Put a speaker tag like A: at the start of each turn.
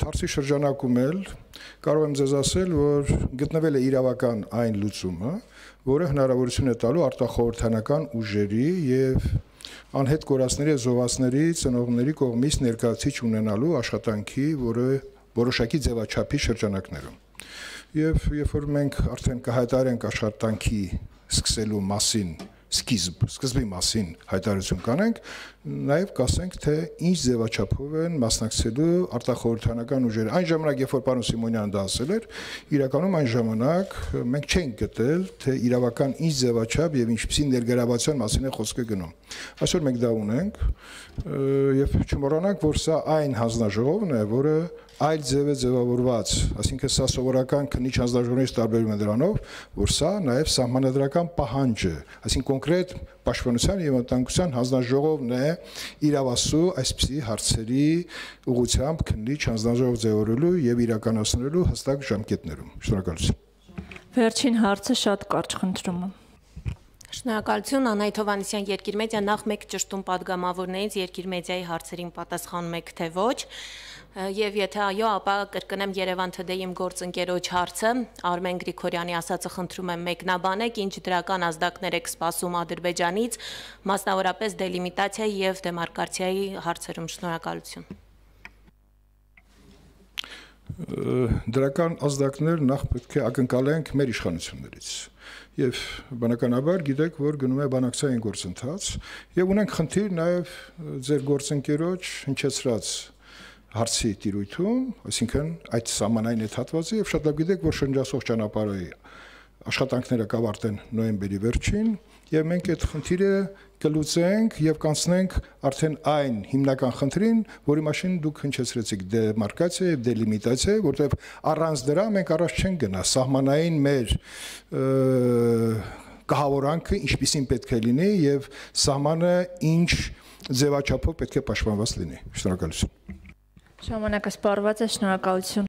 A: Հարցի շրջանակում էլ կարող եմ ձեզ ասել, որ գտնվել է իրավական այն լուծումը, որը հնարավորություն է տալու արտախորհրդանական ուժերի եւ անհետ կորածների եւ զոհվածների ծնողների կողմից ներկայացիչ ունենալու աշխատանքի, որը որոշակի ձևաչափի շրջանակներում։ Եվ երբ որ մենք արդեն կհայտարարենք աշխատանքի սկսելու մասին սկզբի մասին հայտարարություն կանենք, նաև կասենք, թե ինչ ձևաչափով են մասնակցելու արտախորհրդանական ուժերը։ Այն ժամանակ, երբ որ պարոն Սիմոնյանը դա ասել էր, իրականում այն ժամանակ մենք չենք գտել, թե իրավական ինչ ձևաչափ եւ ինչպիսի ներգրավվածության մասին է խոսքը գնում։ Այսօր մենք դա ունենք եւ չմոռանանք, որ սա այն հանձնաժողովն է, որը այլ ձև է ձևավորված, այսինքն սա սովորական քննիչ հանձնաժողովներից տարբերվում է դրանով, որ սա նաև սահմանադրական պահանջ է, այսինքն կոնկրետ պաշտպանության եւ անվտանգության հանձնաժողովն է իրավասու այսպիսի հարցերի ուղղությամբ քննիչ հանձնաժողով ձևավորելու եւ իրականացնելու հստակ ժամկետներում։ Շնորհակալություն։
B: Վերջին հարցը շատ կարճ խնդրում եմ։
C: Շնորհակալություն, Անահիտ Հովհաննիսյան, Երկիր մեդիա, նախ մեկ ճշտում պատգամավորներից Երկիր մեդիայի հարցերին պատասխանում եք, թե ոչ, եւ եթե այո, ապա կրկնեմ Երևան Today-ի իմ գործընկերոջ հարցը, Արմեն Գրիգորյանի ասածը խնդրում եմ մեկնաբանեք, ինչ դրական ազդակներ եք սպասում Ադրբեջանից, մասնավորապես դելիմիտացիայի եւ դեմարկացիայի հարցերում։ Շնորհակալություն։
A: Դրական ազդակներ նախ պետք է ակնկալենք մեր իշխանություններից եւ բնականաբար գիտեք, որ գնում է բանակցային գործընթաց եւ ունենք խնդիր նաեւ ձեր գործընկերոջ հնչեցրած հարցի տիրույթում, այսինքն այդ սահմանային այդ հատվածը եւ շատ լավ գիտեք, որ շրջասող ճանապարհի աշխատանքները կավարտեն նոյեմբերի վերջին եւ մենք այդ խնդիրը կլուծենք եւ կանցնենք արդեն այն հիմնական խնդրին, որի մասին դուք հնչեցրեցիք դեմարկացիա եւ դելիմիտացիա, որտեղ առանց դրա մենք առաջ չենք գնա սահմանային մեր կահավորանքը ինչպիսին պետք է լինի եւ սահմանը ինչ ձևաչափով պետք է պաշտպանված լինի։ Շնորհակալություն։
B: Ժամանակը սպառված է, շնորհակալություն։